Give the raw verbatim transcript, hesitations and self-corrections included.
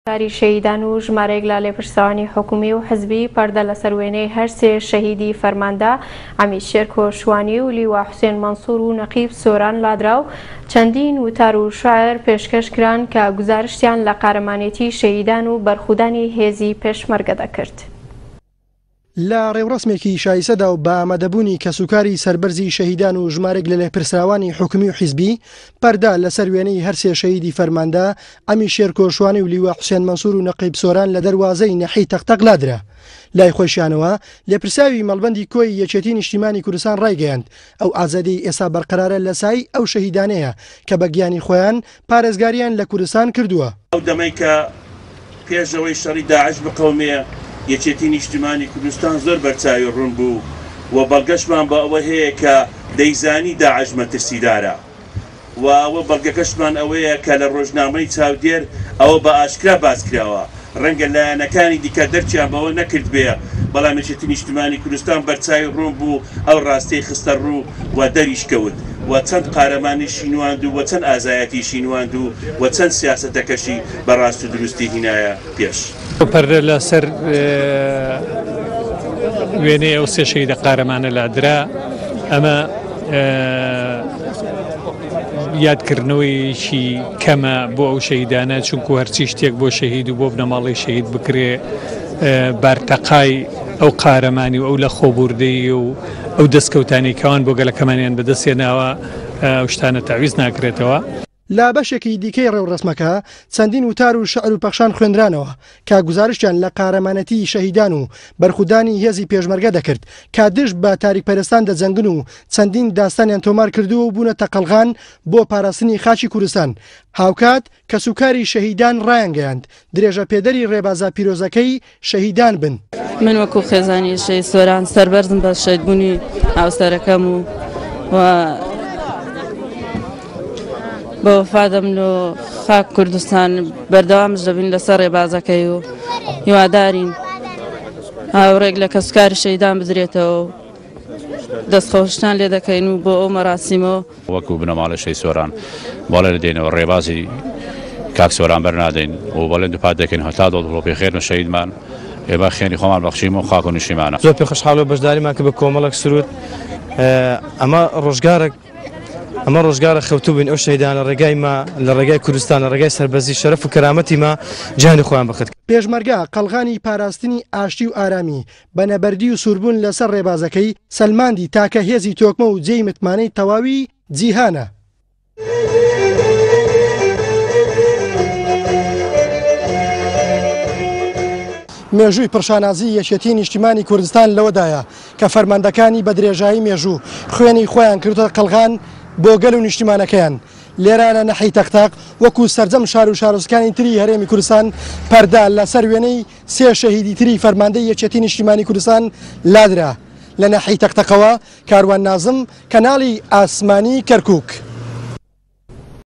کاری شەهیدان و ژمارەیەک لە لێپرسراوانی حکومی و حزبی پەردە لەسەر وێنەی هەر سێ شەهیدی فەرماندە عەمید شێرکۆ شوانی و لیوا حوسێن مەنسوور و نەقیب سۆران لادرا و چەندین وتار و شعر پێشکەش کران کە گوزارشتیان لە قارەمانێتی شەهیدان و بەرخودانی هێزی پێشمەرگە دەکرد. لە ڕێوڕەسمێکی شایسەدا و بە ئامادەبوونی کەسوکاری سەربەرزی شەهیدان و ژمارێک لە لێپرسراوانی حکومی و حیزبی پەردە لەسەر وێنەی هەرسێ شەهیدی فەرماندە عەمید شێرکۆ شوانی و لیوا حوسێن مەنسوور و نەقیب سۆران لە دەروازەی نەحی تەقتەق لادرا. لای خۆشیانەوە لێپرساوی مەڵبەندی کۆی یەکێتی نیشتیمانی کوردستان ڕایگەیاند ئەو ئازادی ئێستا بەرقەرارە لە سای ئەو شەهیدانەیە کە بە گیانی خۆیان پارێزگاریان لە کوردستان کردووە. ئەو دەمەی کە پێشەوەی شەڕی داعش بقەومێ یەکێتی نیشتیمانی کوردستان زۆر بەرچاوی ڕوون بوو و بەڵگەشمان بە ئەوە هەیە کە دەیزانی داعش مەترسیدارە و ئەوە بەڵگەکەشمان ئەوەیە کە لە ڕۆژنامەی چاودێر ئەوە بە ئاشکرا باس کراوە. ڕەنگە لایەنەکانی دیکە دەرچیان بەوە نەکرد بێ، بەڵام یەکێتی نیشتیمانی کوردستان بەرچاوی ڕوون بوو، ئەو ڕاستەی خستە ڕوو و دەریش کەوت و چەند قارەمانیشی نواند و چەند ئازایەتیشی نواند و و چەند سیاسەتەکەشی بە ڕاست و دروستی هینایە پێش. پەردە لەسەر وێنەی ئەو سێ شەهیدە قارەمانە لادرا. ئەمە یادکردنەوەیەکی کەمە بۆ ئەو شەهیدانە، چونکو هەرچی شتێک بۆ شەهید و بۆ بنەماڵەی شەهید بکرێ بارتەقای ئەو قارەمانی و ئەو لە خۆبوردەیی و ئەو دەستکەوتانی کەوان بۆ گەلەکەمانیان بەدەستێناوە ئەو شتانە تەعویز ناکرێتەوە. لە بەشێکی دیکەی ڕێوڕەسمەکە چەندین وتار و شعر و پەخشان خوێندرانەوە کە گوزارشتیان لە قارەمانەتی شەهیدان و بەرخودانی هێزی پێشمەرگە دەکرد کە دژ بە تاریکپەرستان دەجەنگن و چەندین داستانیان تۆمار کردووە و بوونەتە قەڵغان بۆ پاراستنی خاکی کوردستان. هاوکات کەسوکاری شەهیدان ڕایانگەیاند درێژە پێدەری ڕێبازە پیرۆزەکەی شەهیدان بن. من وەکو خێزانی شەهید سۆران سەربەرزم بە شەهیدبوونی هاوسەرەکەم و بە وەفادەم لۆ خاک کوردستان بەردەوامش دەبین لەسەر ڕێبازەکەی و هیوادارین هاوڕێک لە کەسوکاری شەهیدان بدرێتەوە و دەستخۆشتان لێ دەکەین و بۆ ئەو مەراسیمەوە. وەکو بنەماڵەی شەهید سۆران بەڵێ دەدەینەوە ڕێبازی کاک سۆران بەرنادەین و بەڵێن دووپات دەکەین هەتا دڵۆپی خێرن شەهیدمان ئێمە خێنی خۆمان بەخشیم و خاک و نیشتیمانە. زۆر پێخۆشحاڵ و بەشداریمان کە بە کۆمەڵێک سرود ئەمە ڕۆژگارێک ئەمە ڕۆژگارە خەوتوو بین ئەو شەهیدان لە ڕێگای ما لە ڕێگای کوردستان لە ڕێگای سەربەرزی شەرەف و کەرامەتی ما جیهانی خۆیان بەخت. پێشمەرگە قەڵغانی پاراستنی ئاشتی و ئارامی بە نەبەردی و سووربوون لەسەر ڕێبازەکەی سەلماندی تاکە هێزی تۆکمە و جێی متمانەی تەواوی جیهانە. مێژووی پرشانازی یەکێتی نیشتیمانی کوردستان لەوەدایە کە فەرماندەکانی بە درێژایی مێژوو خوێنی خۆیان کردووە قەڵغان بۆ گەل و نیشتیمانەکەیان. لێرە لە نەحی تەقتەق وەکو سەرجەم شار و شارۆچکانی تری هەرێمی کوردستان پەردە لەسەر وێنەی سێ شەهیدی تری فەرماندەی یەکێتی نیشتیمانی کوردستان لادرا. لە نەحی تەقتەقەوە کاروان نازم، کەناڵی ئاسمانی کەرکووک.